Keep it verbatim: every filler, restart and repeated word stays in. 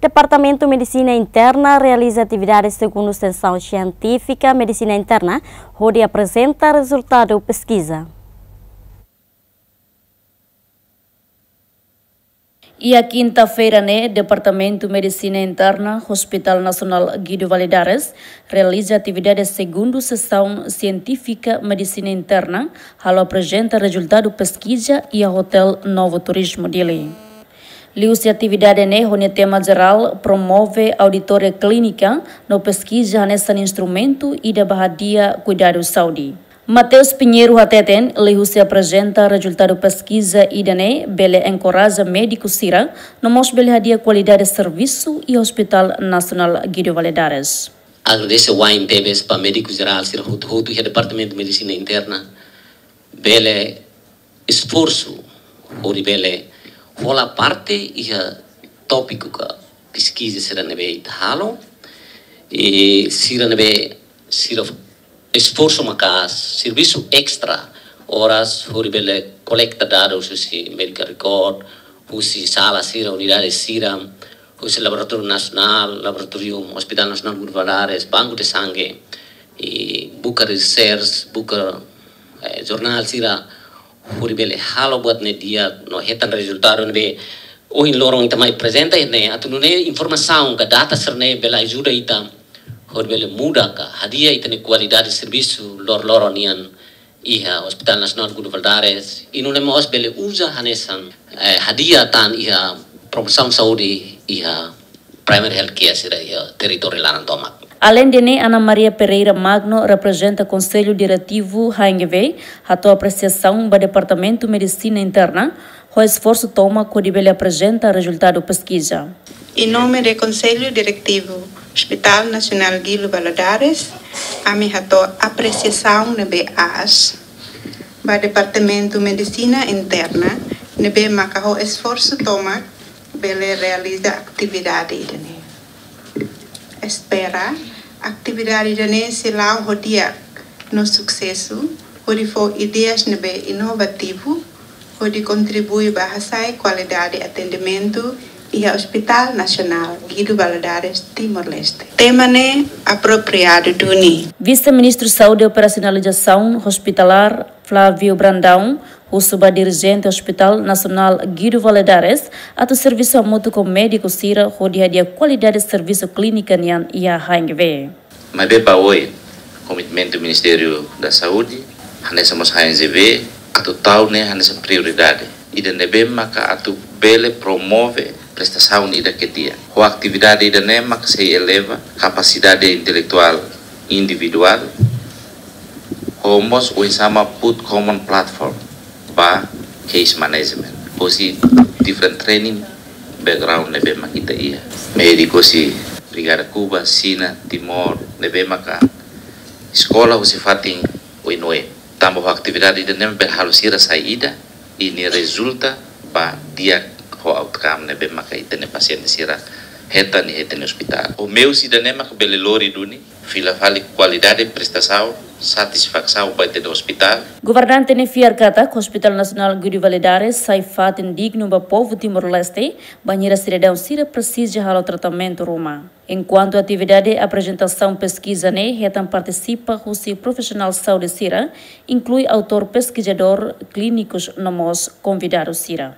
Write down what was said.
Departamentu Medisina Interna realiza atividade segundu sesaun sientífika Medisina Interna, hodi aprezenta rezultadu peskiza. Iha kinta-feira ne'e, Departamentu Medisina Interna, Hospital Nasionál Guido Valadares, realiza atividade segundu sesaun sientífika Medisina Interna, halo aprezenta rezultadu peskiza iha Hotel Novo Turismo Dili. Liuhusi atividade ne'e ho nia tema jerál promove auditória klínika no peskiza hanesan instrumentu ida ba hadi'a kuidadu saúde. Mateus Pinheiro hateten, liuhusi aprezenta rezultadu peskiza ida-ne'e bele enkoraja médiku sira, no mós bele hadi'a kualidade servisu iha Hospital Nasionál Guido Valadares. Agradese wa'in tebes ba médiku jerál sira hotu-hotu iha Departamentu Medisina Interna, bele esforsu hodi bele hola parte iha tópiku ka peskiza sira ne'ebé ita halo. I sira ne'ebé sira esforsu maka'as, servisu extra oras hodi bele kolekta dadus husi medical record, husi sala sira, unidade sira, husi laboratóriu nasionál, laboratóriu Hospital Nasionál Guido Valadares, banku de sangue, i buka research, buka, eh, jornál sira, hodi bele halo buat ne'e di'ak no hetan rezultadu ne'ebé ohin loron ita mai aprezenta ne'e, atu nune'e informasaun ka data sira-ne'e bele ajuda ita hodi bele muda ka hadi'a ita-nia kualidade servisu lor-loron nian iha Hospital Nasionál Guido Valadares, i nune'e mós bele uza hanesan, eh, hadi'a tan iha promosaun saúde iha primary health care sira iha territóriu laran tomak. Aleinde ne'e, Ana Maria Pereira Magno, reprezenta Konsellu Diretivu H N G V, hato'o apresiasaun ba Departamentu Medisina Interna, ho esforsu tomak hodi bele aprezenta rezultadu peskiza. Em nome do Conselho Diretivo Hospital Nacional Guido Valadares, ami hato'o apresiasaun ne'ebé aas ba Departamentu Medisina Interna, ne'ebé maka ho esforsu tomak bele realiza atividade ida-ne'e. Espera atividade ida-ne'e sei la'o ho di'ak no susesu, hodi fó ideias ne'ebé inovativu, hodi kontribui ba hasa'e kualidade atendimentu iha Hospital Nasionál Guido Valadares, Timor-Leste. Tema ne'e apropriadu duni. Vise-Ministru Saúde Operasionalizasaun Hospitalár, Flávio Brandão, husu ba dirijente Hospital Nasionál Guido Valadares atu servisu hamutuk ho médiku sira hodi hadi'a kualidade servisu klínika nian iha H N G V. Maibé ba oin, komitmentu Ministériu da Saúde, hanesan mós H N G V, atu tau ne'e hanesan prioridade ida ne'ebé maka atu bele promove prestasaun ida ke di'ak. Ho atividade ida-ne'e maka sei eleva kapasidade intelektuál individuál, ho mós oinsá mak put common platform ba case management. Hosi different training background ne'ebé mak ita iha. Médiku hosi Brigada Kuba, Xina, Timor, ne'ebé maka eskola hosi fatin oin-oin. Tanba ho atividade ida-ne'e bele halo sira sai ida, i nia rezulta ba di'ak ho outcome ne'ebé maka ita-nia pasiente sira hetan iha ita-nia ospitál. Ho meius ida-ne'e maka bele lori duni, fila fali kualidade prestasaun, satisfasaun ba ita-nia ospitál. Governante ne'e fiar katak Hospital Nasionál Guido Valadares sai fatin dignu ba povu Timor-Leste, bainhira sidadaun sira presiza halo tratamentu ruma. Enkuantu atividade aprezentasaun peskiza ne'e hetan partisipa husi profisionál saúde sira, inklui autór peskizadór, klínikus no mós konvidadu sira.